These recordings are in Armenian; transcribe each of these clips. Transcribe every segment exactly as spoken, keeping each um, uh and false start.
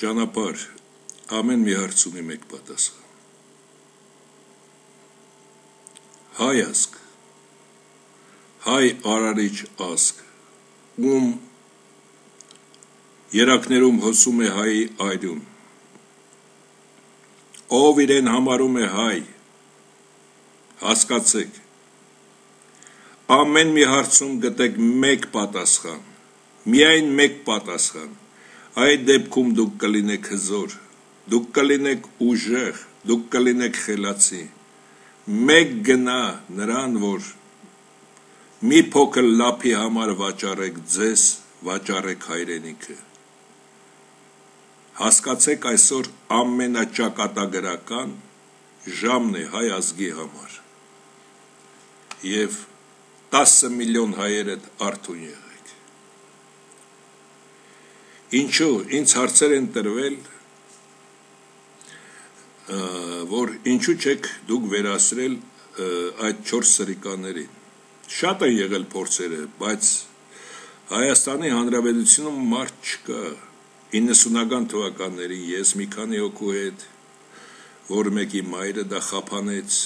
ճանապարհ ամեն մի հարց ունի մեկ պատասխան։ Հայ ազգ, հայ արարիչ ազգ, ում երակներում հոսում է հայի այրուն, ով իրեն համարում է հայ, հասկացեք, ամեն մի հարցում գտեք մեկ պատասխան, միայն մեկ պատասխան, այդ դեպքում դուք կլինեք հզոր, դուք կլինեք ուժեղ, դուք կլինեք խելացի, մեկ գնա նրան, որ մի փոքր լափի համար վաճառեք ձեզ, վաճառեք հայրենիքը։ Հասկացեք այսօր ամենաճակատագրական ժամն է հայ ազգի համար և տասը միլիոն հայերդ արթուն եղեք։ Ինչու, ինձ հարցեր են տրվել, որ ինչու չեք դուք վերացրել այդ չորս սրիկաներին։ Շատ են եղել փորձերը, բայց Հայաստանի Հանրապետությունում մարդ չկա։ իննսունական թվականներին ես մի քանի հոգու հետ, որ մեկի մայրը դա խափանեց,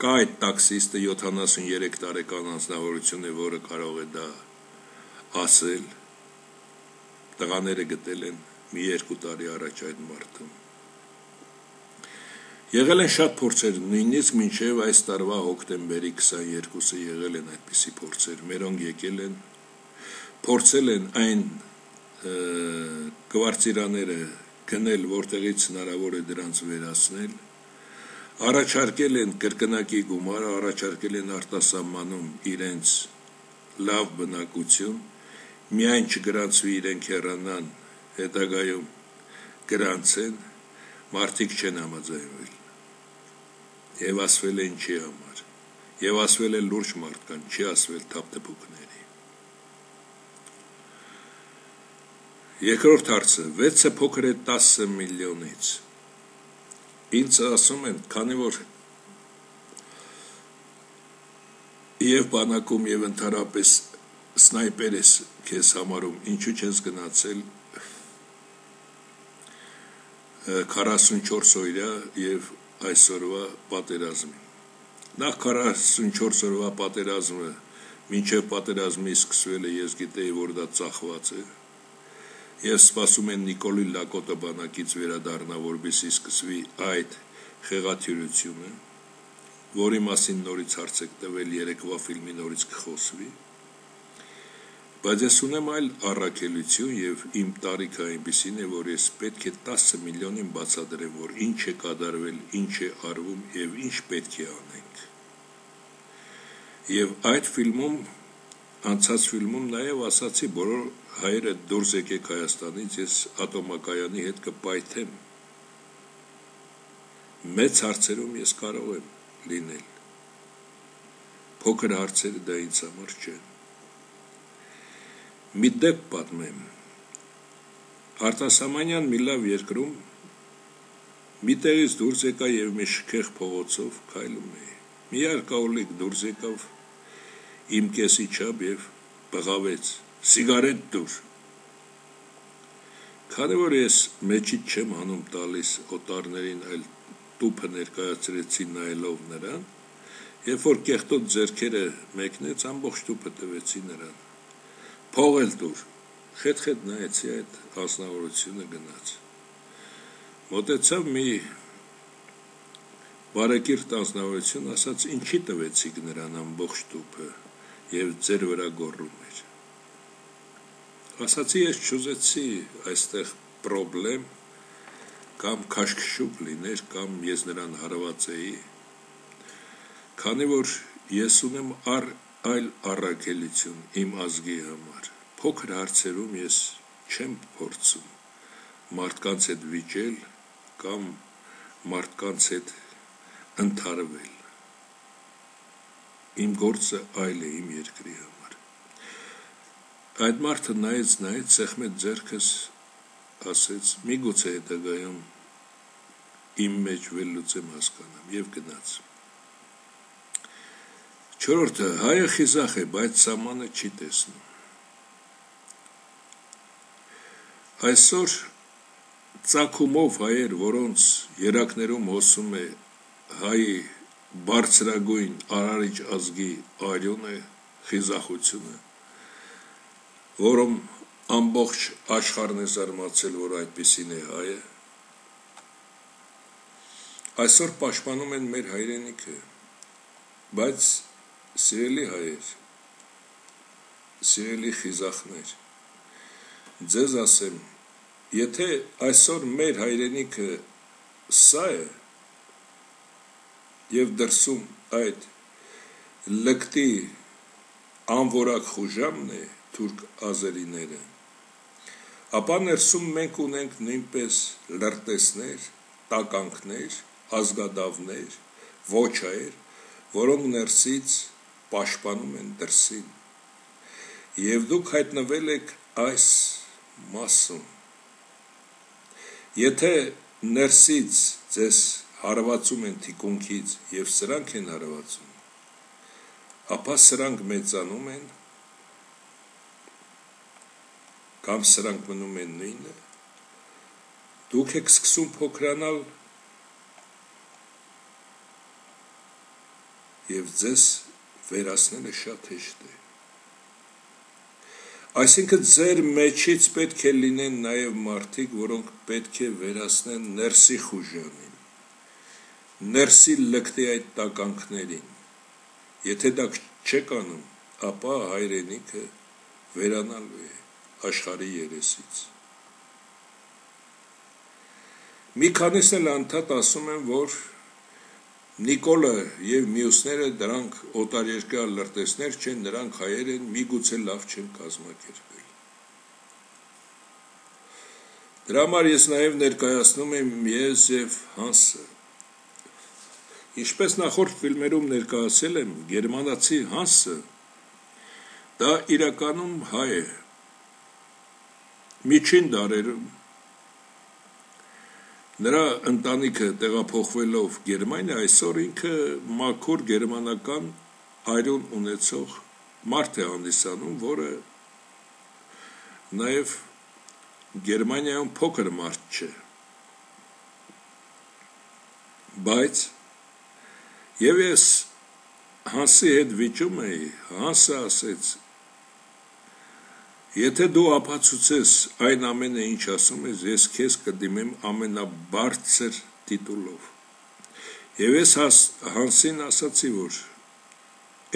կա այդ տաքսիստը յոթանասուներեք տարեկան անձնավորություն է, որը կարող է դա ասել, տղաները գտել են մի երկու տարի առաջ այդ մարդը։ Եղել են շատ փորձեր, նույնիսկ մինչև այս տարվա հոկտեմբերի քսաներկուսը եղել են այդպիսի փորձեր, մերոնք եկել են, փորձել են այն կվարտիրաները գնել, որտեղից հնարավոր է դրանց վերացնել, առաջարկել են կրկնակի գումար, առաջարկել են արտասահմանում իրենց լավ բնակություն, միայն չգրանցվի իրենք հեռանան, հետագայում գրանցեն, մարդիկ չեն համաձայնվել, և ասվել է ինչի համար, և ասվել է լուրջ մարդկան, չի ասվել թափթփուկների։ Երկրորդ հարցը, վեցը փոքր է տասը միլիոնից, ինձ ասում են, քանի որ և բանակում և ընդհանրապես սնայպեր ես քեզ համարում, ինչու չես գնացել քառասունչորս օրյա և այսօրվա պատերազմի։ Նախ քառասունչորս օրվա պատերազմը, մինչև պատերազմի սկսվելը ես գիտեի, որ դա ծախված է, և սպասում են Նիկոլի Լակոտը բանակից վերադառնա, որպեսզի սկսվի այդ խեղաթյուրությունը, որի մասին նորից հարց եք տվել, երեկվա ֆիլմի նորից կխոսվի, բայց ես ունեմ այլ առաքելություն և իմ տարիքը այնպիսին է, որ ես պետք է տասը միլիոնին բացատրեմ, որ ինչ է կատարվել, ինչ է արվում և ինչ պետք է անենք։ Եվ այդ ֆիլմում, անցած ֆիլմում նաև ասացի, բոլոր հայերը դուրս եկեք Հայաստանից, ես ատոմակայանի հետ կպայթեմ, մեծ հարցերում ես կարող եմ լինել, փոքր հարցերը դա ինձ համար չեն։ Մի դեպք պատմեմ, Արտասահմանյան մի լավ երկրում մի տեղից դուրս եկա և մի շքեղ փողոցով քայլում էի, մի արկաուլիկ դուրս եկավ իմ կեսի չափ և բղավեց, սիգարետ տուր, քանի որ ես մեջից չեմ հանում տալիս օտարներին, այլ տուփը ներկայացրեցի նայելով նրան, երբ որ կեղտոտ ձեռքերը մեկնեց, ամբողջ տուփը տվեցի նրան, փող էլ տուր, խետ-խետ նայեցի այդ անձնավորությունը գնաց, մոտեցավ մի բարեկիրթ անձնավորություն, ասաց ինչի տվեցիք նրան ամբողջ տուփը և ձեր վրա գոռում էր, ասացի ես չուզեցի այստեղ պրոբլեմ կամ քաշքշուկ լիներ, կամ ես նրան հարված էի, քանի որ ես ունեմ առ այլ առաքելություն իմ ազգի համար, փոքր հարցերում ես չեմ փորձում մարդկանց հետ վիճել կամ մարդկանց հետ ընդհարվել, իմ գործը այլ է իմ երկրի համար, այդ մարդը նայեց, նայեց, սեղմեց ձեռքս, ասեց միգուցե հետագայում իմ մեջ վերլուծեմ հասկանամ և գնաց։ Չորրորդը, հայը խիզախ է, բայց սահմանը չի տեսնում։ Այսօր ծագումով հայեր, որոնց երակներում հոսում է հայի բարձրագույն արարիչ ազգի արյունը, խիզախությունը, որում ամբողջ աշխարհն է զարմացել, որ այդպիսին է հայը, այսօր պաշտպանում են մեր հայրենիքը, բայց սիրելի հայեր, սիրելի խիզախներ, ձեզ ասեմ, եթե այսօր մեր հայրենիքը սա է և դրսում այդ լկտի անվորակ խուժամն է թուրք ազերիները, ապա ներսում մենք ունենք նույնպես լրտեսներ, տականքներ, ազգադավներ, ոչայեր, որոնք ներսից պաշտպանում են դրսին, և դուք հայտնվել եք այս մասում, եթե ներսից ձեզ հարվածում են թիկունքից և սրանք են հարվածում, ապա սրանք մեծանում են, կամ սրանք մնում են նույնը, դուք եք սկսում փոքրանալ և ձեզ վերացնելը շատ հեշտ է, այսինքն ձեր մեջից պետք է լինեն նաև մարդիկ, որոնք պետք է վերացնեն ներսի խուժանին, ներսի լկտի այդ տականքներին, եթե դա չեք անում, ապա հայրենիքը վերանալու է աշխարհի երեսից։ Մի քանիսն էլ անդադ ասում են, որ Նիկոլը և մյուսները դրանք օտարերկրյա լրտեսներ չեն, նրանք հայեր են, միգուցե լավ չեն կազմակերպել։ Դրա համար ես նաև ներկայացնում եմ ես և Հանսը։ Ինչպես նախորդ ֆիլմերում ներկայացել եմ, գերմանացի Հանսը դա իրականում հայ է։ Միջին դարերում նրա ընտանիքը տեղափոխվելով Գերմանիա, այսօր ինքը մաքուր գերմանական արյուն ունեցող մարդ է հանդիսանում, որը նաև Գերմանիայում փոքր մարդ չէ, բայց և ես Հանսի հետ վիճում էի, Հանսը ասեց, եթե դու ապացուցես այն ամենը, ինչ ասում ես, ես քեզ կդիմեմ ամենաբարձր տիտուլով։ Եվ ես Հանսին ասացի, որ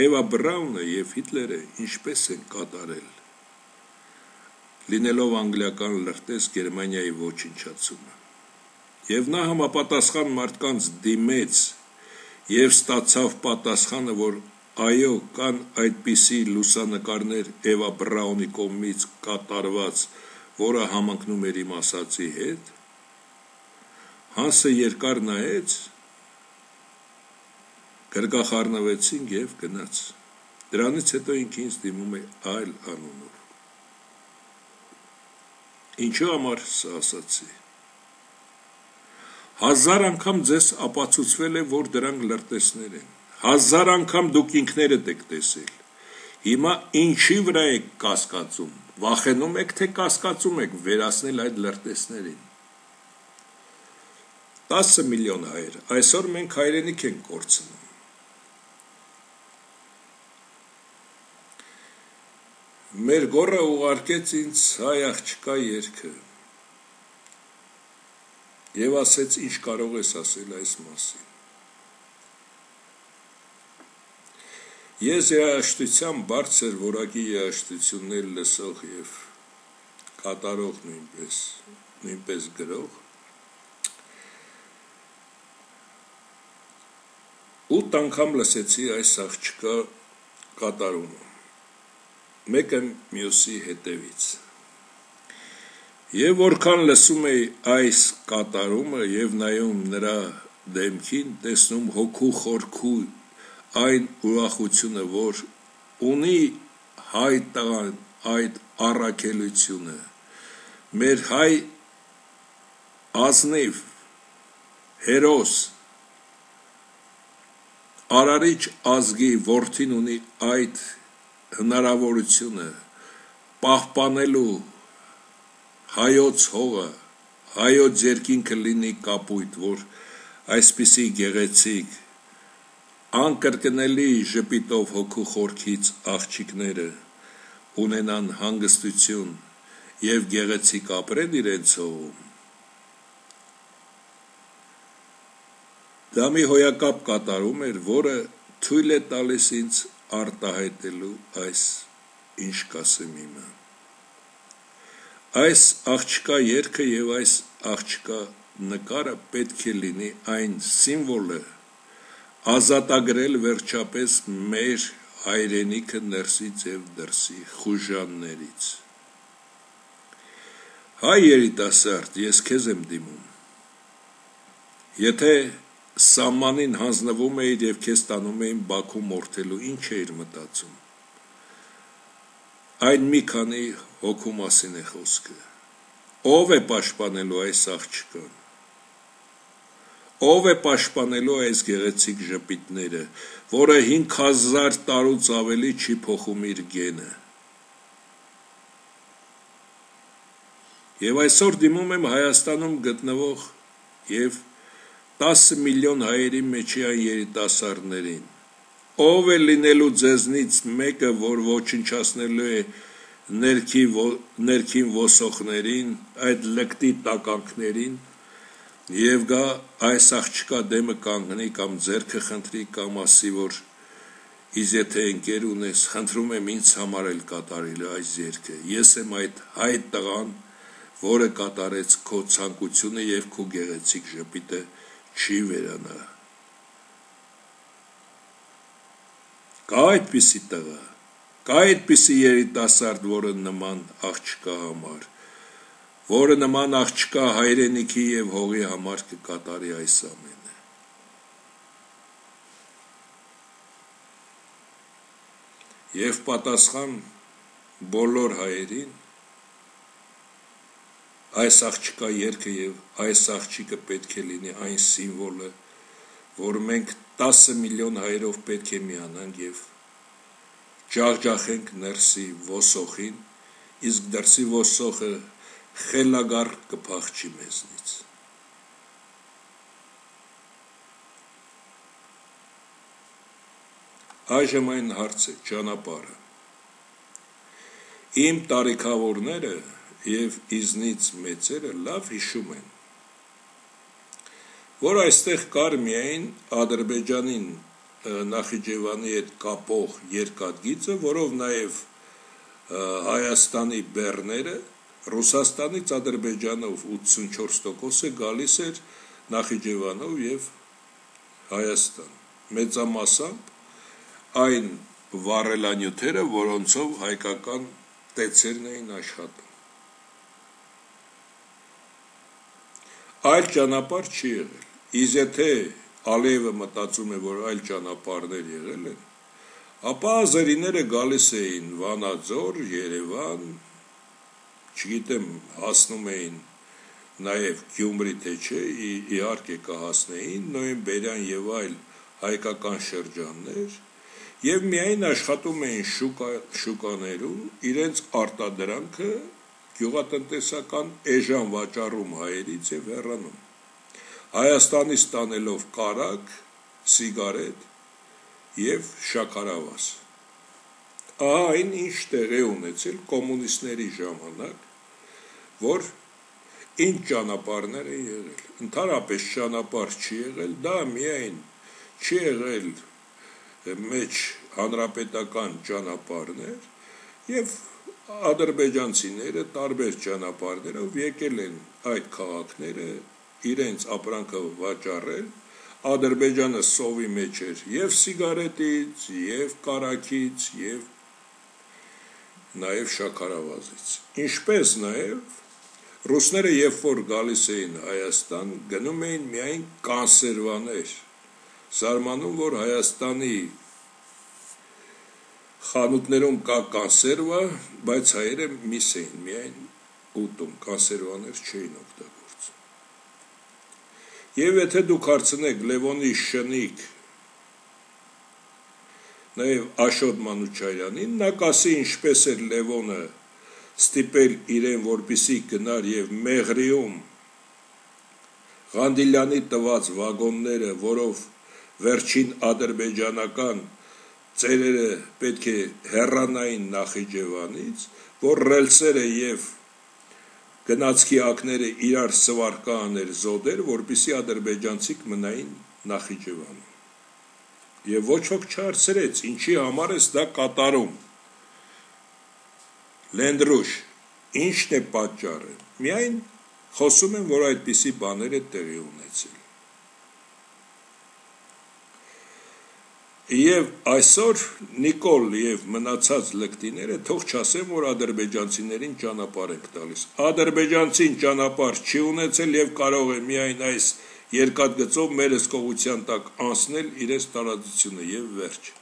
Էվա Բրաունը և Հիտլերը ինչպես են կատարել, լինելով անգլիական լրտես Գերմանիայի ոչնչացումը։ Եվ նա համապատասխան մարդկանց դիմեց և ստացավ պատասխանը, որ այո, կան այդպիսի լուսանկարներ Էվա Բրաունի կողմից կատարված, որը համընկնում էր իմ ասածի հետ, Հանսը երկար նայեց, գրկախառնվեցինք և գնաց, դրանից հետո ինքը ինձ դիմում է այլ անունով։ Ինչու համար սա ասացի։ Հազար անգամ ձեզ ապացուցվել է, որ դրանք լրտեսներ են, հազար անգամ դուք ինքներդ եք տեսել, հիմա ինչի վրա եք կասկածում, վախենում եք, թե կասկածում եք վերացնել այդ լրտեսներին։ տասը միլիոն հայեր, այսօր մենք հայրենիք ենք կորցնում։ Մեր գոռը ուղարկեց ինձ հայ աղջկա երգը և ասեց, ինչ կարող ես ասել այս մասին։ Ես երաժշտության բարձր որակի երաժշտություններ լսող և կատարող նույնպես, նույնպես գրող, ութ անգամ լսեցի այս աղջկա կատարումը, մեկը մյուսի հետևից։ Եվ որքան լսում էի այս կատարումը և նայում նրա դեմքին, տեսնում հոգու խորքու այն ուրախությունը, որ ունի հայ տղան այդ առաքելությունը, մեր հայ ազնիվ, հերոս, արարիչ ազգի որդին ունի այդ հնարավորությունը պահպանելու հայոց հողը, հայոց երկինքը լինի կապույտ, որ այսպիսի գեղեցիկ, անկրկնելի ժպիտով հոգու խորքից աղջիկները ունենան հանգստություն և գեղեցիկ ապրեն իրենց հողում, դա մի հոյակապ կատարում էր, որը թույլ է տալիս ինձ արտահայտելու այս ինչ կասեմ իմը։ Այս աղջկա երգը և այս աղջկա նկարը պետք է լինի այն սիմվոլը ազատագրել վերջապես մեր հայրենիքը ներսից և դրսի խուժաններից։ Հայ երիտասարդ, ես քեզ եմ դիմում, եթե սահմանին հանձնվում էիր և քեզ տանում էին Բաքու մորթելու, ինչ էիր մտածում։ Այն մի քանի հոգու մասին է խոսքը։ Ով է պաշտպանելու այս աղջկան։ Ով է պաշտպանելու այս գեղեցիկ ժպիտները, որը հինգ հազար տարուց ավելի չի փոխում իր գենը։ Եվ այսօր դիմում եմ Հայաստանում գտնվող և տասը միլիոն հայերի մեջի այն երիտասարդներին, ով է լինելու ձեզնից մեկը, որ ոչնչացնելու է ներքին ոսոխներին, այդ լկտի տականքներին և գա այս աղջկա դեմը կանգնի կամ ձեռքը խնդրի կամ ասի, որ իզ եթե ընկեր ունես, խնդրում եմ ինձ համար էլ կատարելու այս երգը, ես եմ այդ հայ տղան, որը կատարեց քո ցանկությունը և քո գեղեցիկ ժպիտը չի վերանա։ Կա այդպիսի տղա, կա այդպիսի երիտասարդ, որը նման աղջկա համար, որը նման աղջկա հայրենիքի և հողի համար կկատարի այս ամենը։ Եվ պատասխան բոլոր հայերին, այս աղջկա երգը և այս աղջիկը պետք է լինի այն սիմվոլը, որ մենք տասը միլիոն հայերով պետք է միանանք և ջախջախենք ներսի ոսոխին, իսկ դրսի ոսոխը խելագար կփախչի մեզնից։ Այժմ այն հարց է, ճանապարհը։ Իմ տարիքավորները և իզնից մեծերը լավ հիշում են, որ այստեղ կար միայն Ադրբեջանին Նախիջևանի հետ կապող երկաթգիծը, որով նաև Հայաստանի բեռները, Ռուսաստանից Ադրբեջանով ութսունչորս տոկոսը գալիս էր Նախիջևանով և Հայաստան, մեծամասամբ այն վառելանյութերը, որոնցով հայկական տեցերն էին աշխատում։ Այլ ճանապարհ չի եղել, իսկ եթե Ալիևը մտածում է, որ այլ ճանապարհներ եղել են, ապա ազերիները գալիս էին Վանաձոր, Երևան, չգիտեմ, հասնում էին նաև Գյումրի թե չէ, իհարկե կհասնեին, Նոյեմբերյան և այլ հայկական շրջաններ, և միայն աշխատում էին շուկաներում, իրենց արտադրանքը գյուղատնտեսական էժան վաճառում հայերից և հեռանում, Հայաստանից տանելով կարագ, սիգարետ և շաքարավազ։ Ահա այն ինչ տեղի ունեցել կոմունիստների ժամանակ, որ ինչ ճանապարհներ են եղել, ընդհանրապես ճանապարհ չի եղել, դա միայն չի եղել մեջ հանրապետական ճանապարհներ և ադրբեջանցիները տարբեր ճանապարհներով եկել են այդ քաղաքները իրենց ապրանքը վաճառել, Ադրբեջանը սովի մեջ էր և սիգարետից, և կարագից, և նաև շաքարավազից, ինչպես նաև ռուսները երբ որ գալիս էին Հայաստան, գնում էին միայն կանսերվաներ, զարմանում, որ Հայաստանի խանութներում կա կոնսերվա, բայց հայերը միս էին միայն ուտում, կոնսերվաներ չէին օգտագործում։ Եվ եթե դուք հարցնեք Լևոնի շնիկ, նաև Աշոտ Մանուչարյանին, նա կասի ինչպես էր Լևոնը ստիպել իրեն, որպեսզի գնար և Մեղրիում Ղանդիլյանի տված վագոնները, որով վերջին ադրբեջանական ծերերը պետք է հեռանային Նախիջևանից, որ ռելսերը եւ գնացքի ակները իրար սվարկա աներ զոդեր, որպիսի ադրբեջանցիք մնային Նախիջևանում։ Եվ ոչ ոք չհարցրեց, ինչի համար ես դա կատարում։ Լենդրուշ, ինչն է պատճառը։ Միայն խոսում են, որ այդպիսի բաներ է տեղի ունեցել։ Եվ այսօր Նիկոլ եւ մնացած լկտիները թող չասեն, որ ադրբեջանցիներին ճանապարհ ենք տալիս։ Ադրբեջանցին ճանապարհ չի ունեցել եւ կարող է միայն այս երկաթգծով մեր հսկողության տակ անցնել իրենց տարածությունը եւ վերջ։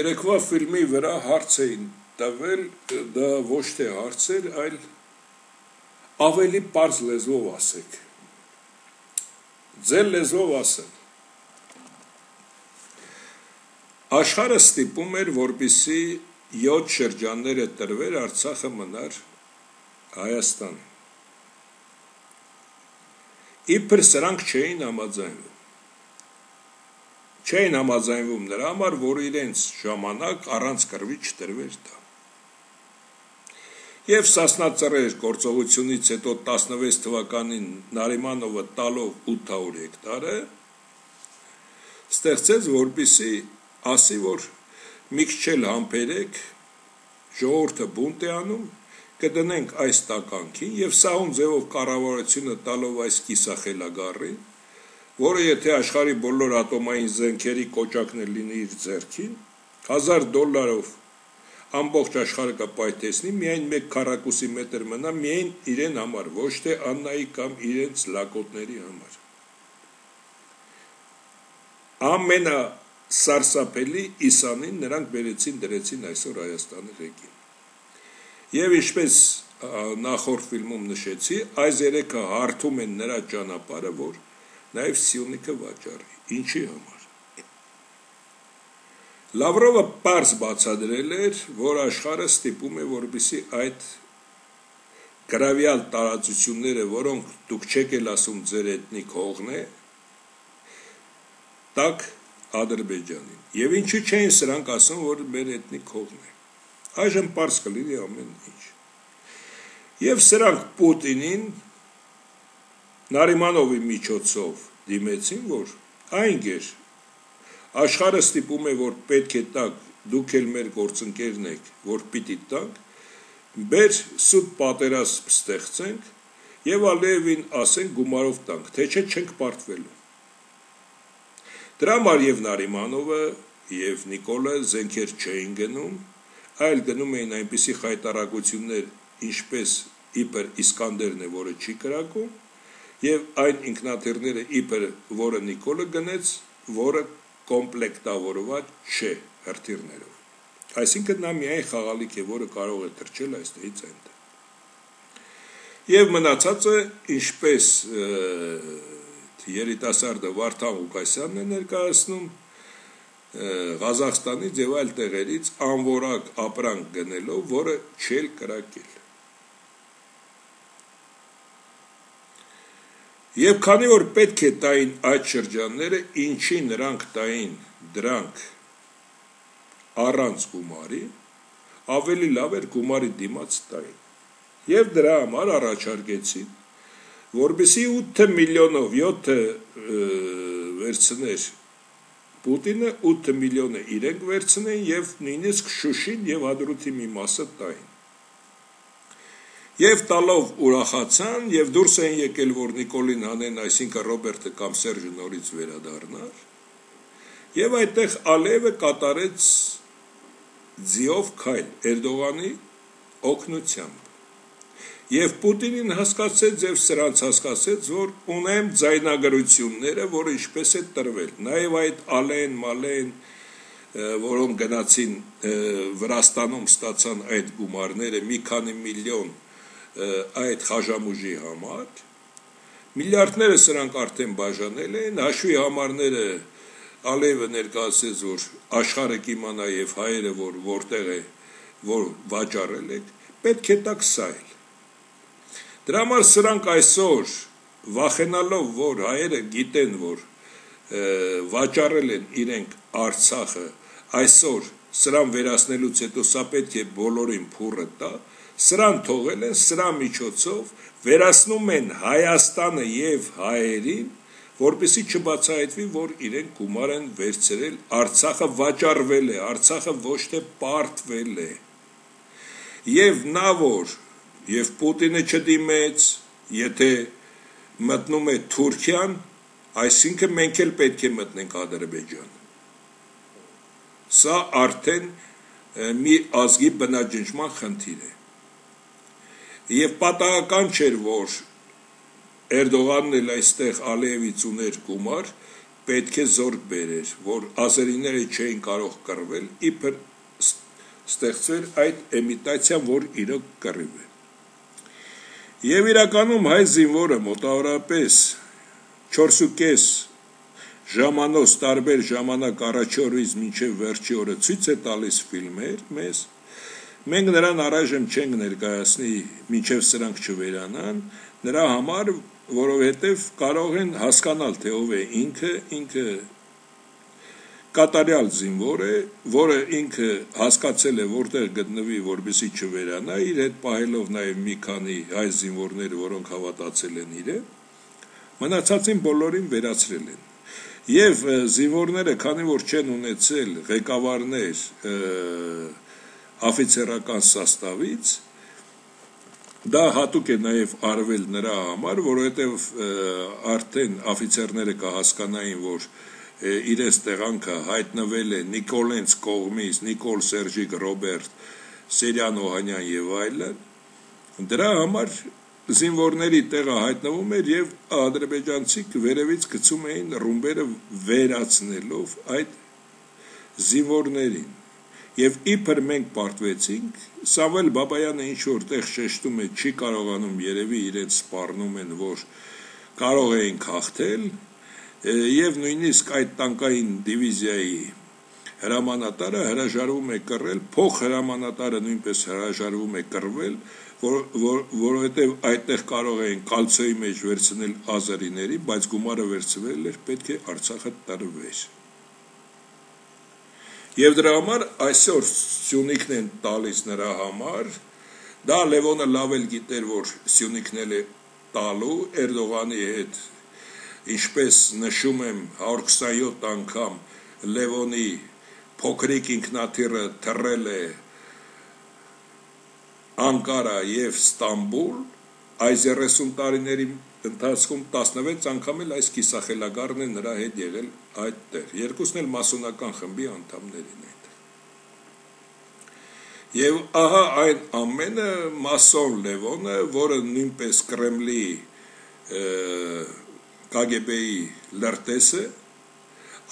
Երեկվա ֆիլմի վրա հարց էին տվել, դա ոչ թե հարց էր, այլ ավելի պարզ լեզվով ասեք։ Ձեր լեզվով ասեն։ Աշխարհը ստիպում էր, որպիսի յոթ շրջանները տրվեր, Արցախը մնար Հայաստան։ Իբր սրանք չէին համաձայնվում։ Չէին համաձայնվում նրա համար, որ իրենց ժամանակ առանց կռվի չտրվեր դա։ Եվ Սասնա ծռեր գործողությունից հետո տասնվեց թվականին Նարիմանովը տալով ութ հարյուր հեկտարը ստեղծեց, որպիսի ասի, որ մի քիչ էլ համբերեք, ժողովուրդը բունտ է անում, կդնենք այս տականքին եւ սահուն ձևով կառավարությունը տալով այս կիսախելագարին, որը եթե աշխարհի բոլոր ատոմային զենքերի կոճակն է լինի իր ձեռքին, հազար դոլարով ամբողջ աշխարհը կպայթեցնի, միայն մեկ քառակուսի մետր մնա միայն իրեն համար, ոչ թե Աննայի կամ իրենց լակոտների համար։ Ամենա սարսափելի իսանին նրանք բերեցին դրեցին այսօր Հայաստանի ղեկին։ Եվ ինչպես նախորդ ֆիլմում նշեցի, այս երեքը հարթում են նրա ճանապարհը, որ նաև Սյունիքը վաճառի։ Ինչի համար։ Լավրովը պարզ բացադրել էր, որ աշխարհը ստիպում է, որպեսզի այդ գրավյալ տարածությունները, որոնք դուք չեք էլ ասում ձեր էթնիկ հողն է, տակ Ադրբեջանին։ Եվ ինչու չէին սրանք ասում, որ մեր էթնիկ հողն է։ Այժմ պարզ կլինի ամեն ինչ։ Եվ սրանք Պուտինին Նարիմանովի միջոցով դիմեցին, որ այն գեր աշխարհը ստիպում է, որ պետք է տակ, դուք էլ մեր գործընկերն եք, որ պիտի տակ, բեր սուտ պատերազմ ստեղծենք եւ Ալիևին ասենք գումարով տանք, թե չէ չենք պարտվելու։ Դրա համար եւ Նարիմանովը եւ Նիկոլը զենքեր չէին գնում, այլ գնում էին այնպիսի խայտարակություններ, ինչպես իբր Իսկանդերն է, որը չի կրակում, եւ այն ինքնաթիռները իբր, որը Նիկոլը գնեց, որը կոմպլեկտավորված չէ հրթիռներով։ Այսինքն նա միայն խաղալիք է, որը կարող է թռչել այստեղից այնտեղ։ Եվ մնացածը, ինչպես երիտասարդը Վարդան Ղուկասյանն է ներկայացնում, Ղազախստանից եւ այլ տեղերից անորակ ապրանք գնելով, որը չել կրակել։ Եվ քանի որ պետք է տային այդ շրջանները, ինչի նրանք տային դրանք առանց գումարի, ավելի լավ էր գումարի դիմաց տային։ Եվ դրա համար առաջարկեցին, որպեսզի ութ միլիոնով յոթը վերցներ Պուտինը, ութ միլիոնը իրենք վերցնեն եւ նույնիսկ Շուշին եւ Հադրութի մի մասը տային։ Եվ տալով ուրախացան եւ դուրս են եկել, որ Նիկոլին հանեն, այսինքն Ռոբերտը կամ Սերժը նորից վերադառնար։ Եվ այդտեղ Ալիևը կատարեց ձիով քայլ Էրդողանի օգնությամբ։ Եվ Պուտինին հասկացեց եւ սրանց հասկացեց, որ ունեմ ձայնագրությունները, որը ինչպես է տրվել։ Նաեւ այդ Ալեն, Մալեն, որոնք գնացին Վրաստանում ստացան այդ գումարները մի քանի միլիոն այդ խաժամուժի համար, միլիարդները սրանք արդեն բաժանել են, հաշվի համարները Ալիևը ներկայացրեց, որ աշխարհը կիմանա եւ հայերը, որ որտեղ է, որ վաճառել եք, պետք է տակ սայլ։ Դրա համար սրանք այսօր վախենալով, որ հայերը գիտեն, որ վաճառել են իրենք Արցախը, այսօր սրան վերացնելուց հետո սա պետք է բոլորին փուռը տա, սրան թողել են, սրա միջոցով վերացնում են Հայաստանը եւ հայերին, որպեսզի չբացահայտվի, որ իրենք գումար են վերցրել, Արցախը վաճառվել է, Արցախը ոչ թե պարտվել է։ Եվ նա որ եւ Պուտինը չդիմեց, եթե մտնում է Թուրքիան, այսինքն մենք էլ պետք է մտնենք Ադրբեջան։ Սա արդեն մի ազգի բնաջնջման խնդիր է։ Եվ պատահական չէր, որ Էրդողանն էլ այստեղ Ալիևից ուներ գումար, պետք է զորք բերեր, որ ազերիները չէին կարող կռվել, իբր ստեղծվեր այդ էմիտացիան, որ իրոք կռիվ է։ Եվ իրականում հայ զինվորը մոտավորապես չորսուկես ժամանոց տարբեր ժամանակ առաջի օրից մինչև վերջի օրը ցույց է տալիս ֆիլմեր մեզ, մենք նրան առայժմ չենք ներկայացնի, մինչև սրանք չվերանան, նրա համար, որովհետև կարող են հասկանալ, թե ով է ինքը, ինքը կատարյալ զինվոր է, որը ինքը հասկացել է որտեղ գտնվի, որպեսզի չվերանա, իր հետ պահելով նաև մի քանի հայ զինվորներ, որոնք հավատացել են իրեն, մնացածին բոլորին վերացրել են։ Եվ զինվորները, քանի որ չեն ունեցել ղեկավարներ աֆիցերական սաստավից, դա հատուկ է նաև արվել նրա համար, որովհետև արդեն աֆիցերները կհասկանային, որ իրենց տեղանքը հայտնվել է Նիկոլենց կողմից, Նիկոլ Սերժիկ Ռոբերտ, Սերյան Օհանյան եւ այլն, դրա համար զինվորների տեղը հայտնվում էր եւ ադրբեջանցիք վերևից գցում էին ռումբերը վերացնելով այդ զինվորներին։ Եվ իբր մենք պարտվեցինք, Սամվել Բաբայանը ինչ որտեղ շեշտում է, չի կարողանում երևի իրենց սպառնում են, որ կարող էին հաղթել, եւ նույնիսկ այդ տանկային դիվիզիայի հրամանատարը հրաժարվում է կռել, փոխ հրամանատարը նույնպես հրաժարվում է կռվել, որ, որ, որովհետև այդտեղ կարող էին կալցոյի մեջ վերցնել ազերիների, բայց գումարը վերցվել էր, պետք է Արցախը տրվեր։ Եվ դրա համար այսօր Սյունիքն են տալիս նրա համար, դա Լևոնը լավ էլ գիտեր, որ Սյունիքն է տալու Էրդողանի հետ, ինչպես նշում եմ հարյուր քսանյոթ անգամ Լևոնի փոքրիկ ինքնաթիռը թռել է Անկարա եւ Ստամբուլ, այս երեսուն տարիների ընթացքում տասնվեց անգամ էլ այս կիսախելագարն է նրա հետ եղել այդտեղ, երկուսն էլ մասոնական խմբի անդամներ են այդ։ Եվ ահա այն ամենը մասոն Լևոնը, որը նույնպես Կրեմլի Կա Գե Բեի լրտեսը,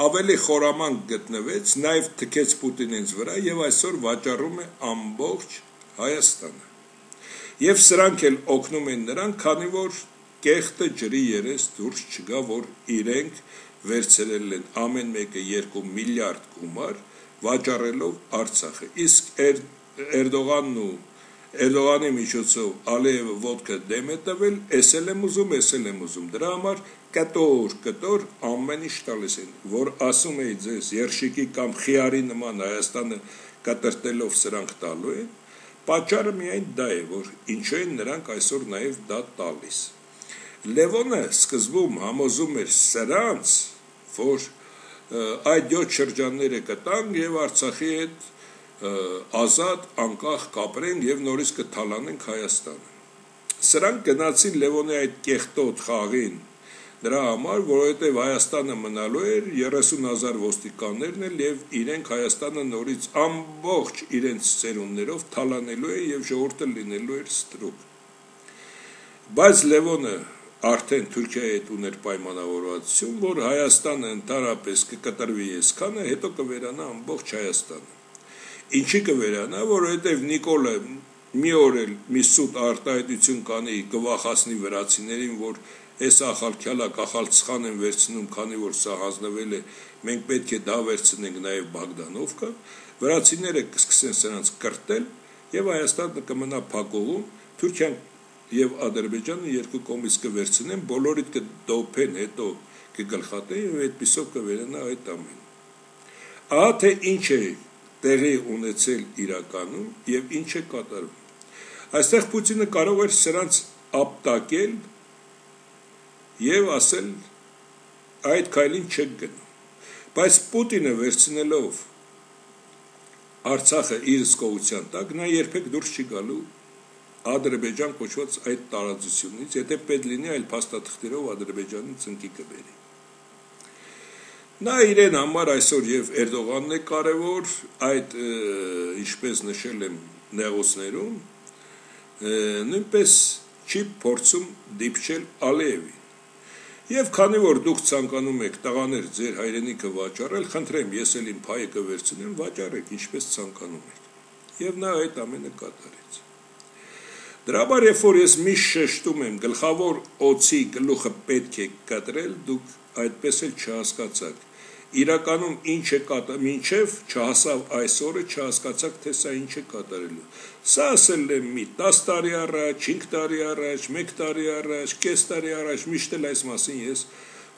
ավելի խորամանկ գտնվեց, նաև թքեց Պուտինից վրա եւ այսօր վաճառում է ամբողջ Հայաստանը։ Եվ սրանք էլ օգնում են նրան, քանի որ կեղտը ջրի երես դուրս չգա, որ իրենք վերցրել են ամեն մեկը երկու միլիարդ գումար վաճառելով Արցախը։ Իսկ Էրդողանն ու Էրդողանի միջոցով Ալիևը ոտքը դեմ է տվել, էս էլ եմ ուզում, էս էլ եմ ուզում։ Դրա համար կտոր, կտոր ամեն ինչ տալիս են, որ ասում էի ձեզ, երշիկի կամ խիարի նման Հայաստանը կտրտելով սրանք տալու են, պատճառը միայն դա է, որ ինչու են նրանք այսօր նաև դա տալիս։ Լևոնը սկզբում համոզում էր սրանց, որ այդ յոթ շրջանները կտանք եւ Արցախի հետ ազատ անկախ կապրենք եւ նորից կթալանենք Հայաստանը։ Սրանք գնացին Լևոնի այդ կեղտոտ խաղին դրա համար, որովհետև Հայաստանը մնալու էր երեսուն հազար ոստիկաններն էլ եւ իրենք Հայաստանը նորից ամբողջ իրենց ծերուններով թալանելու է եւ ժողովուրդը լինելու էր ստրուկ։ Բայց Լևոնը արդեն Թուրքիայի հետ ուներ պայմանավորվածություն, որ Հայաստանը ընդհանրապես կկտրվի այսքանը, հետո կվերանա ամբողջ Հայաստանը։ Ինչի կվերանա, որովհետև Նիկոլը մի օր էլ մի սուտ արտահայտություն կանի, կվախացնի վրացիներին, որ այս ախալքյալա կախալցխան են վերցնում, քանի որ սա հանձնվել է, մենք պետք է դա վերցնենք նաև Բագդանովկա, վրացիները կսկսեն սրանց կրտել եւ Հայաստանը կմնա փակողում, Թուրքիան եւ Ադրբեջանը երկու կողմից կվերցնեն, բոլորիդ կդոփեն, հետո կգլխատեն եւ այդպիսով կվերանա այդ ամենը։ Ահա թե ինչ է տեղի ունեցել իրականում եւ ինչ է կատարվում։ Այստեղ Պուտինը կարող էր սրանց ապտակել եւ ասել այդ քայլին չեք գնում, բայց Պուտինը վերցնելով Արցախը իր զգովության տակ, նա երբեք դուրս չի գալու Ադրբեջան կոչված այդ տարածությունից, եթե պետք լինի այլ փաստաթղթերով Ադրբեջանի ծնկի կբերի։ Նա իրեն համար այսօր եւ Էրդողանն է կարևոր, այդ ինչպես նշել եմ նեղուցներում, նույնպես չի փորձում դիպչել Ալիևին։ Եվ քանի որ դուք ցանկանում եք տղաներ ձեր հայրենիքը վաճառել, խնդրեմ, ես էլ իմ փայը կվերցնեմ, վաճառեք, ինչպես ցանկանում եք։ Եվ նա այդ ամենը կատարեց։ Դրա համար երբ որ ես միշտ շեշտում եմ գլխավոր օծի գլուխը պետք է կտրել, դուք այդպես էլ չհասկացաք։ Իրականում ինչ է կատարել, մինչև չհասավ այս օրը չհասկացաք, թե սա ինչ է կատարելու։ Սա ասել եմ մի տասը տարի առաջ, հինգ տարի առաջ, մեկ տարի առաջ, կես տարի առաջ, միշտ էլ այս մասին ես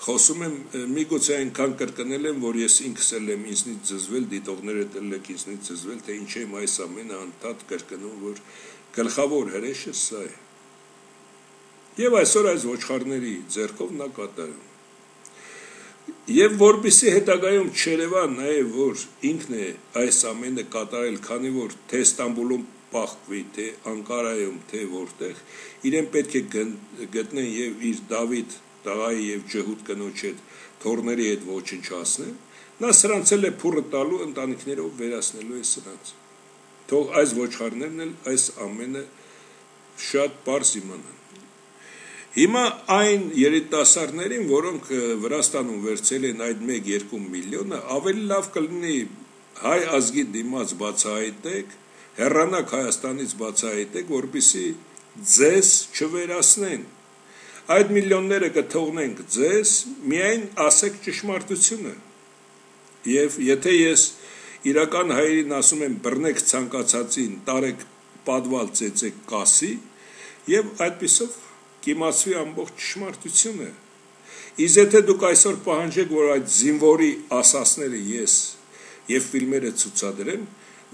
խոսում եմ, միգուցե այնքան կրկնել եմ, որ ես ինքս էլ եմ ինձնից զզվել, դիտողները էլ եք ինձնից զզվել, թե ինչ եմ այս ամենը անդադ կրկնում, որ գլխավոր հրեշը սա է։ Եվ այսօր այս ոչխարների ձեռքով նա կատարում։ Եվ որպեսզի հետագայում չերևա նաև որ ինքն է այս ամենը կատարել, քանի որ թե Ստամբուլում պահվի, թե Անկարայում, թե որտեղ, իրեն պետք է գտնեն եւ իր Դավիթ տղայի եւ ջհուդ կնոջ հետ թորների հետ ոչնչացնեն, նա սրանց էլ է փուրը տալու ընտանիքներով վերացնելու է սրանց։ Թող այս ոչխարներն էլ այս ամենը շատ པարզ իմանան։ Հիմա այն երիտասարդներին, որոնք Վրաստանում վերցել են այդ մեկ-երկու միլիոնը, ավելի լավ կլինի հայ ազգի դիմաց բացահայտեք, հեռանաք Հայաստանից բացահայտեք, որպեսզի ձեզ չվերացնեն։ Այդ միլիոնները կթողնենք ձեզ, միայն ասեք ճշմարտությունը։ Եվ եթե ես իրական հայերին ասում եմ բռնեք ցանկացածին, տարեք պատվալ ծեծեք կասի, եւ այդպիսով կիմացվի ամբողջ ճշմարտությունը։ Իսկ եթե դուք այսօր պահանջեք, որ այդ զինվորի ասասները ես եւ ֆիլմերը ցուցադրեմ,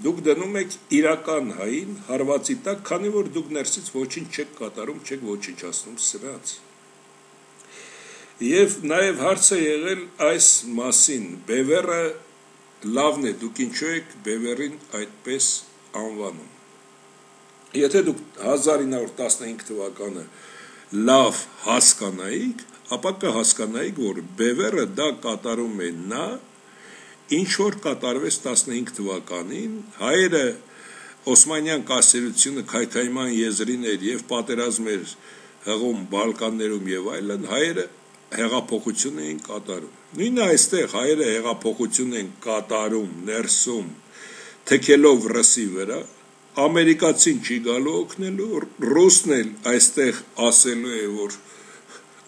դուք դնում եք իրական հային հարվածի տակ, քանի որ դուք ներսից ոչինչ չեք կատարում, չեք ոչնչացնում սրանց։ Եվ նաեւ հարց է եղել այս մասին, Բևերը լավն է, դուք ինչու եք Բևերին այդպես անվանում։ Եթե դուք հազար ինը հարյուր տասնհինգ թվականը լավ հասկանայիք, ապա կհասկանայիք, որ Բևերը դա կատարում է նա, ինչ որ կատարվեց տասնհինգ թվականին, հայերը Օսմանյան կայսրությունը քայքայման եզրին էր եւ պատերազմ էր հղում Բալկաններում եւ այլն, հայերը հեղափոխություն էին կատարում։ Նույնը այստեղ հայերը հեղափոխություն են կատարում ներսում, թքելով ռսի վրա, ամերիկացին չի գալու օգնելու, ռուսն էլ այստեղ ասելու է, որ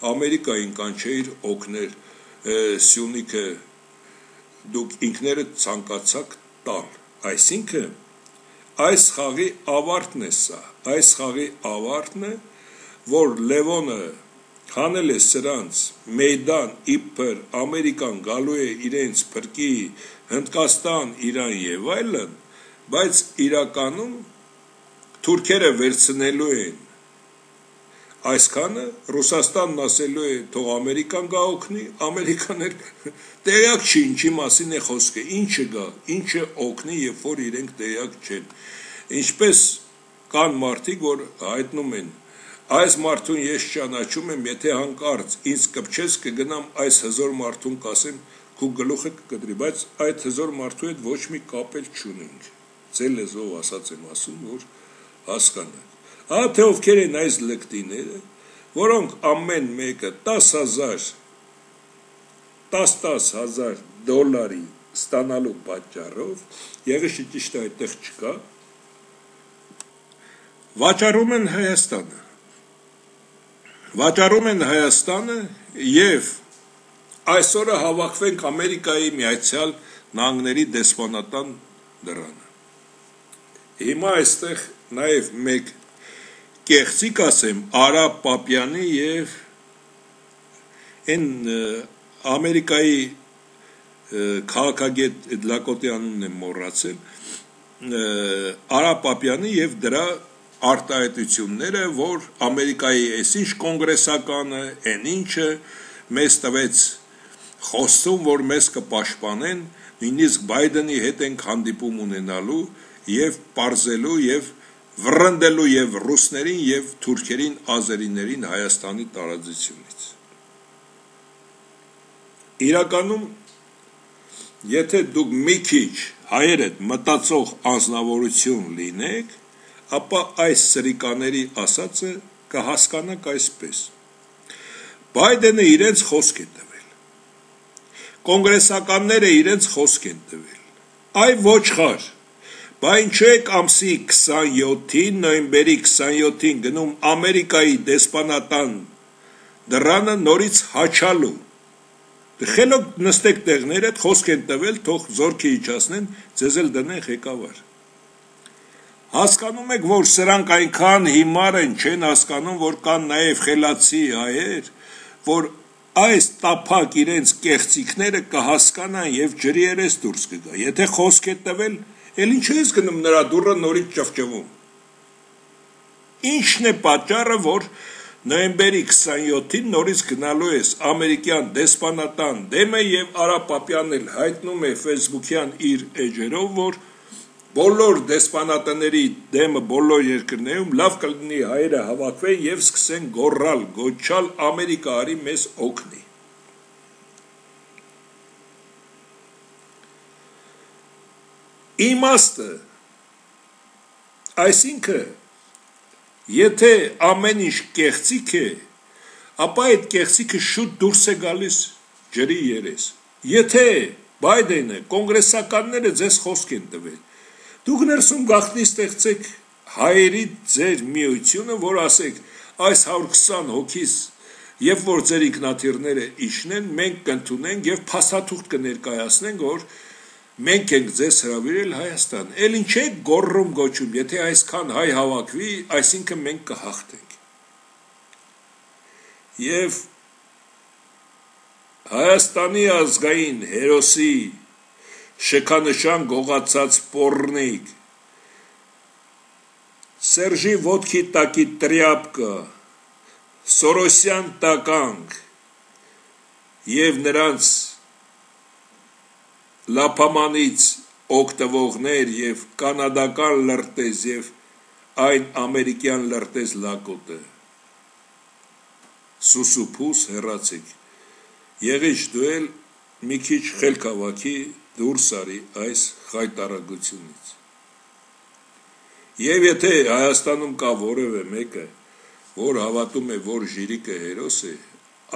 Ամերիկային կանչեիր օգնել Սյունիքը, դուք ինքներդ ցանկացաք տալ։ Այսինքն այս խաղի ավարտն է սա, այս խաղի ավարտն է, որ Լևոնը հանել է սրանց մեյդան իբր Ամերիկան գալու է իրենց փրկի Հնդկաստան, Իրան եւ այլն, բայց իրականում թուրքերը վերցնելու են այսքանը, Ռուսաստանն ասելու է թող Ամերիկան գա օգնի, Ամերիկաներ տեղյակ չի ինչի մասին է խոսքը, ինչը գա, ինչը օգնի, երբ որ իրենք տեղյակ չեն։ Ինչպես կան մարդիկ, որ հայտնում են, այս մարդուն ես ճանաչում եմ, եթե հանկարծ ինձ կպչես կգնամ այս հզոր մարդուն կասեմ, քու գլուխը կկտրի, բայց այդ հզոր մարդու հետ ոչ մի կապ էլ չունենք։ Ձեր լեզվով ասած եմ ասում, որ հասկանաք։ Ահա թե ովքեր են այս լկտիները, որոնք ամեն մեկը տասը հազար տասը հազար դոլարի ստանալու պատճառով, եղիշը ճիշտ այդտեղ չկա, վաճառում են Հայաստանը։ Վաճառում են Հայաստանը եւ այսօրը հավաքվենք Ամերիկայի Միացյալ Նահանգների դեսպանատան դռանը։ Հիմա այստեղ նաեւ մեկ կեղծիկ ասեմ Արա Պապյանի եւ այն Ամերիկայի քաղաքագետ Լակոտի անունն եմ մոռացել Արա Պապյանի եւ դրա արտահայտությունները, որ Ամերիկայի այսինչ կոնգրեսականը, այն ինչը մեզ տվեց խոստում, որ մեզ կպաշտպանեն, նույնիսկ Բայդենի հետ ենք հանդիպում ունենալու եւ պարզելու եւ վռնդելու եւ ռուսներին եւ թուրքերին, ազերիներին Հայաստանի տարածությունից։ Իրականում, եթե դուք մի քիչ հայերդ մտածող անձնավորություն լինեք, ապա այս սրիկաների ասածը կհասկանաք այսպես. Բայդենը իրենց խոսք է տվել, կոնգրեսականները իրենց խոսք են տվել, այ ոչխար, բա ինչու եք ամսի քսանյոթին, նոյեմբերի քսանյոթին գնում Ամերիկայի դեսպանատան դռանը նորից հաչալու, խելոք նստեք տեղներդ, խոսք են տվել, թող զորքի իջացնեն, ձեզ էլ դնեն ղեկավար։ Հասկանում եք, որ սրանք այնքան հիմար են, չեն հասկանում, որ կան նաև խելացի հայեր, որ այս տափակ իրենց կեղծիքները կհասկանան եւ ջրի երես դուրս կգա։ Եթե խոսք է տվել, էլ ինչու ես գնում նրա դուռը նորից ճվճվում։ Ինչն է պատճառը, որ նոյեմբերի քսանյոթին նորից գնալու ես ամերիկյան դեսպանատան դեմը եւ Արա Պապյանն էլ հայտնում է Facebook-յան իր էջերով, որ բոլոր դեսպանատների դեմը բոլոր երկրներում լավ կլինի հայերը հավաքվեն եւ սկսեն գոռալ, գոչալ Ամերիկա արի մեզ օգնի։ Իմաստը, այսինքն, եթե ամեն ինչ կեղծիք է, ապա այդ կեղծիքը շուտ դուրս է գալիս ջրի երես։ Եթե Բայդենը, կոնգրեսականները ձեզ խոսք են տվել, դուք ներսում գաղտնի ստեղծեք հայերի ձեր միությունը, որ ասեք այս հարյուր քսան հոգիս, երբ որ ձեր ինքնաթիռները իջնեն, մենք կընդունենք եւ փաստաթուղթ կներկայացնենք, որ մենք ենք ձեզ հրավիրել Հայաստան։ Էլ ինչ է գոռում գոչում, եթե այսքան հայ հավաքվի, այսինքն մենք կհաղթենք։ Եվ Հայաստանի ազգային հերոսի շքանշան գողացած պոռնիկ, Սերժի ոտքի տակի տրյապկը, Սորոսյան տականք եւ նրանց լափամանից օգտվողներ եւ կանադական լրտես եւ այն ամերիկյան լրտես Լակոտը, սուսուփուս հեռացեք, եղիչ դու էլ մի քիչ խելք հավաքի դուրս արի այս խայտարագությունից։ Եվ եթե Հայաստանում կա որևէ մեկը, որ հավատում է, որ Ժիրիկը հերոս է,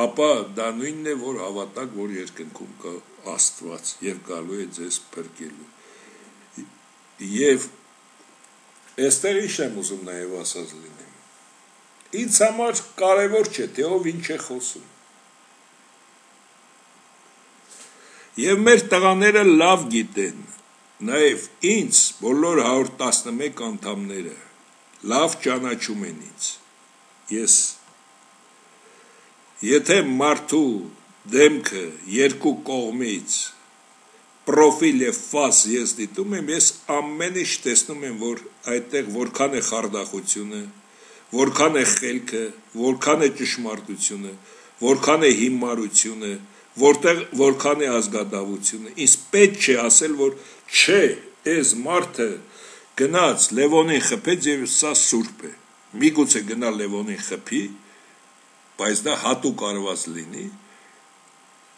ապա դա նույնն է, որ հավատակ, որ երկնքում կա Աստված եւ գալու է ձեզ փրկելու։ Եվ այստեղ ինչ եմ ուզում նաեւ ասած լինեմ։ Ինձ համար կարևոր չէ, թե ով ինչ է խոսում։ Եվ մեր տղաները լավ գիտեն, նաեւ ինձ բոլոր հարյուր տասնմեկ անդամները լավ ճանաչում են ինձ։ Ես եթե մարդու դեմքը երկու կողմից պրոֆիլ եւ ֆաս ես դիտում եմ, ես ամեն ինչ տեսնում եմ, որ այդտեղ որքան է խարդախությունը, որքան է խելքը, որքան է ճշմարտությունը, որքան է հիմարությունը, որտեղ որքան է ազգադավությունը։ Ինձ պետք չէ ասել, որ չէ, այս մարդը գնաց Լևոնին խփեց եւ սա սուրբ է։ Միգուցե գնա Լևոնին խփի, բայց դա հատուկ արված լինի,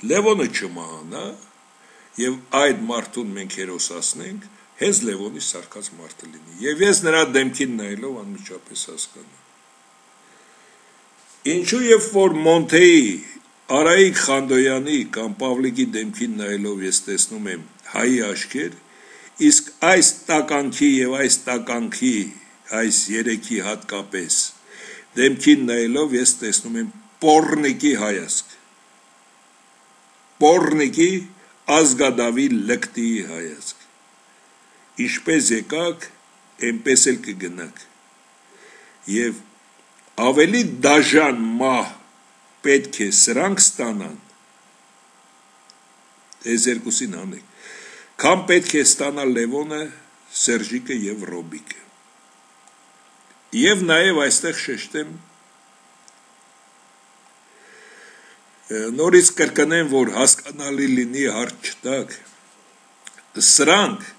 Լևոնը չմահանա եւ այդ մարդուն մենք հերոսացնենք, հենց Լևոնի սարկած մարդը լինի։ Եվ ես նրա դեմքին նայելով անմիջապես հասկանում։ Ինչու երբ որ Մոնթեի, Արայիկ Խանդոյանի կամ Պավլիկի դեմքին նայելով ես տեսնում եմ հայի աչքեր, իսկ այս տականքի եւ այս տականքի, այս երեքի հատկապես դեմքին նայելով ես տեսնում եմ պոռնիկի հայացք, պոռնիկի ազգադավի լկտի հայացք, ինչպես եկաք, այնպես էլ կգնաք, եւ ավելի դաժան մահ պետք է սրանք ստանան, այս երկուսին անեք, քան պետք է ստանա Լևոնը, Սերժիկը եւ Ռոբիկը։ Եվ նաեւ այստեղ շեշտեմ, նորից կրկնեմ, որ հասկանալի լինի հարց չտակ, սրանք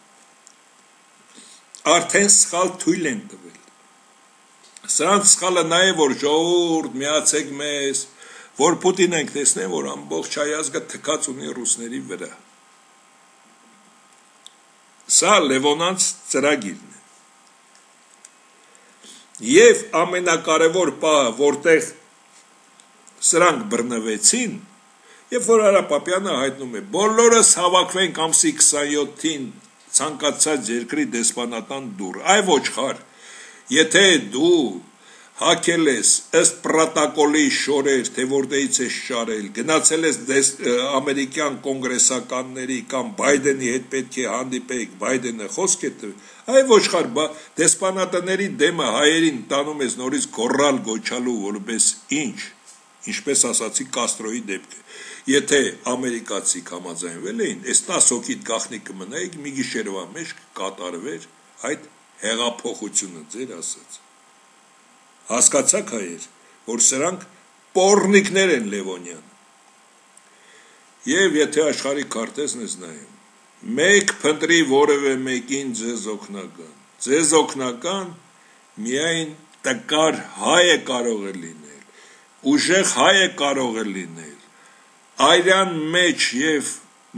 արդեն սխալ թույլ են տվել։ Սրանք սխալը նաեւ որ ժողովուրդ միացեք մեզ, որ Պուտին ենք տեսնեն, որ ամբողջ հայազգը թքած ունի ռուսների վրա։ Սա Լևոնանց ծրագիրն է։ Եվ ամենակարևոր պահը, որտեղ սրանք բռնվեցին, երբ որ Արա Պապյանը հայտնում է, բոլորս հավաքվենք ամսի քսանյոթին ցանկացած երկրի դեսպանատան դուռ, այ ոչխար, եթե դու հակել ես ըստ պրոտոկոլի շորեր, թե որտեղից ես շարել, գնացել ես ամերիկյան կոնգրեսականների կամ Բայդենի հետ պետք է հանդիպեք, Բայդենը խոսք է տվել, այ ոչխար, դեսպանատների դեմը հայերին տանում ես նորից գոռալ գոչալու, որպես ինչ, ինչպես ասացի Կաստրոյի դեպքը, եթե ամերիկացիք համաձայնվել էին, այս տասը հոգիդ գաղտնի կմնայիք, մի գիշերվա մեջ կկատարվեր այդ հեղափոխությունը ձեր ասած։ Հասկացաք հայեր, որ սրանք պոռնիկներ են Լևոնյան։ Եվ եթե աշխարհի քարտեզն ես նայում, մեկ փնտրի որևէ մեկին ձեզ օգնական, ձեզ օգնական միայն տկար հայը կարող է լինել, ուժեղ հայը կարող է լինել, այրան մեջ եւ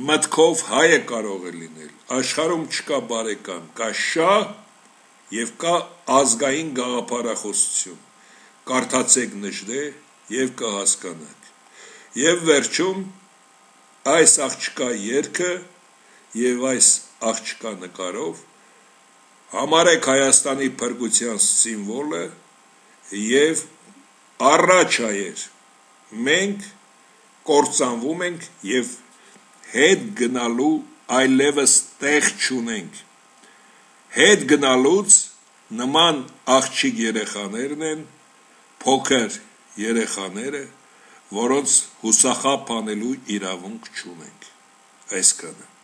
մտքով հայը կարող է լինել, աշխարհում չկա բարեկամ, կա շահ եւ կա ազգային գաղափարախոսություն, կարդացեք նժդե եւ կհասկանաք, եւ վերջում այս աղջկա երգը եւ այս աղջկա նկարով համարեք Հայաստանի փրկության սիմվոլը եւ առաջ հայեր, մենք կործանվում ենք եւ հետ գնալու այլևս տեղ չունենք, հետ գնալուց նման աղջիկ երեխաներն են, փոքր երեխաները, որոնց հուսախաբ անելու իրավունք չունենք, այսքանը։